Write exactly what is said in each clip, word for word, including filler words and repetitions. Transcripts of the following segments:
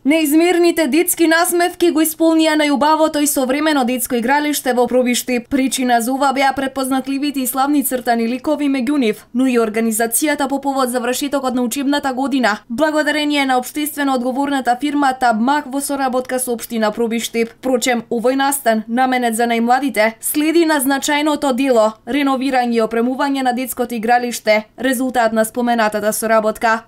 Неизмерните детски насмевки го исполнија најубавото и современо детско игралиште во Пробиштип. Причина за ова беа препознатливите и славни цртани ликови меѓу нив, но и организацијата по повод завршетокот на учебната година, благодарение на општествено одговорната фирма Табмак во соработка со општина Пробиштип. Впрочем, овој настан, наменет за најмладите, следи на значајното дело – реновирање и опремување на детското игралиште, резултат на споменатата соработка.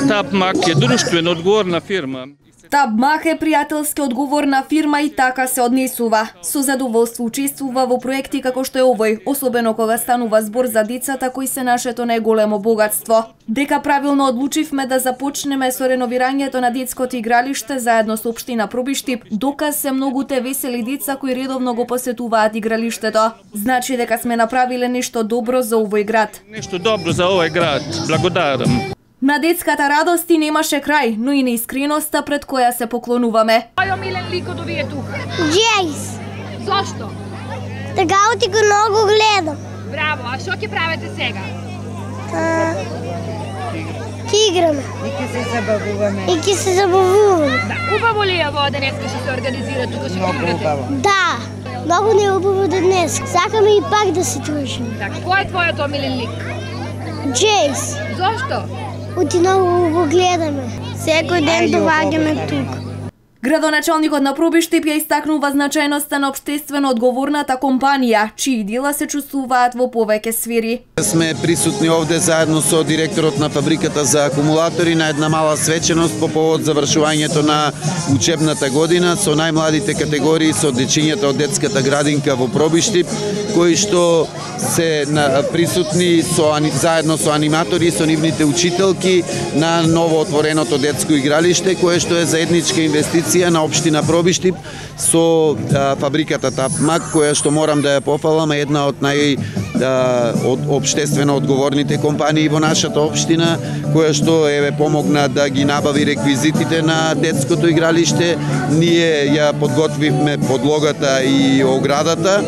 Табмак е друштвено одговорна фирма. Табмак е пријателски одговорна фирма и така се однесува. Со задоволство учествува во проекти како што е овој, особено кога станува збор за децата кои се нашето најголемо богатство. Дека правилно одлучивме да започнеме со реновирањето на детското игралиште заедно со општина Пробиштип, доказ се многуте весели деца кои редовно го посетуваат игралиштето. Значи дека сме направиле нешто добро за овој град. Нешто добро за овој град. Благодарам. На детската радост и немаше крај, но и неискреноста пред која се поклонуваме. Кој омилен лик од овие тука? Джейс. Зошто? Така ти го многу гледам. Браво, а што ќе правите сега? А, Ки играме. И ќе се забавуваме. И ќе се забавуваме. Да, убаво ли е во денеска што се организира тука што Многу играте? убаво. Да, многу не убаво днес. Сакаме и пак да се дружиме. Така, кој е твојот омилен лик? Джейс. Зошто? Оти многу го гледаме. Секој ден доаѓаме тука. Градоначалникот на Пробиштип ја истакнува значајноста на општествено одговорната компанија, чии дела се чувствуваат во повеќе сфери. Сме присутни овде заедно со директорот на фабриката за акумулатори на една мала свеченост по повод завршувањето на учебната година со најмладите категории, со дечињата од детската градинка во Пробиштип, кои што се присутни со заедно со аниматори и со нивните учителки на ново отвореното детско игралиште, кое што е заедничка инвестиција на општина Пробиштип со а, фабриката Табмак, која што морам да ја пофалам, е една од нај а, од општествено одговорните компании во нашата општина, која што еве помогна да ги набави реквизитите на детското игралиште. Ние ја подготвивме подлогата и оградата.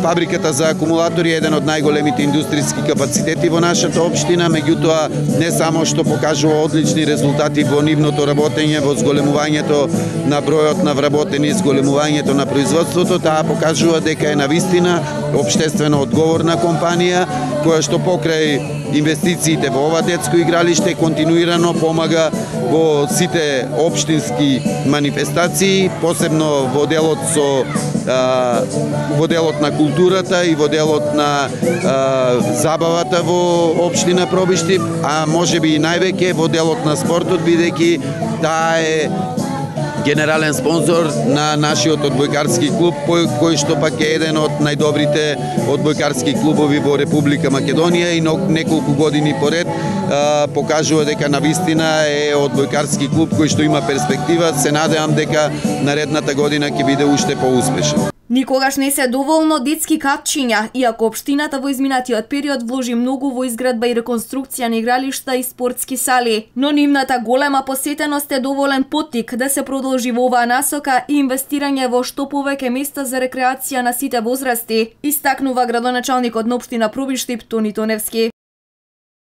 Фабриката за акумулатори е еден од најголемите индустријски капацитети во нашата општина, меѓутоа не само што покажува одлични резултати во нивното работење, во зголемувањето на бројот на вработени, зголемувањето на производството, таа покажува дека е навистина општествено одговорна компанија, која што покрај инвестициите во ова детско игралиште континуирано помага во сите општински манифестации, посебно во делот со а, во делот на културата и во делот на а, забавата во општина Пробиштип, а можеби и највеќе во делот на спортот, бидејќи таа е генерален спонзор на нашиот одбојкарски клуб, кој што пак е еден од најдобрите одбојкарски клубови во Република Македонија и неколку години поред а, покажува дека навистина е одбојкарски клуб кој што има перспектива. Се надевам дека наредната година ќе биде уште поуспешен. Никогаш не се доволно детски катчиња, иако општината во изминатиот период вложи многу во изградба и реконструкција на игралишта и спортски сали, но нивната голема посетеност е доволен поттик да се продолжи во оваа насока и инвестирање во што повеќе места за рекреација на сите возрасти, истакнува градоначалникот на општина Пробиштип Тони Тоневски.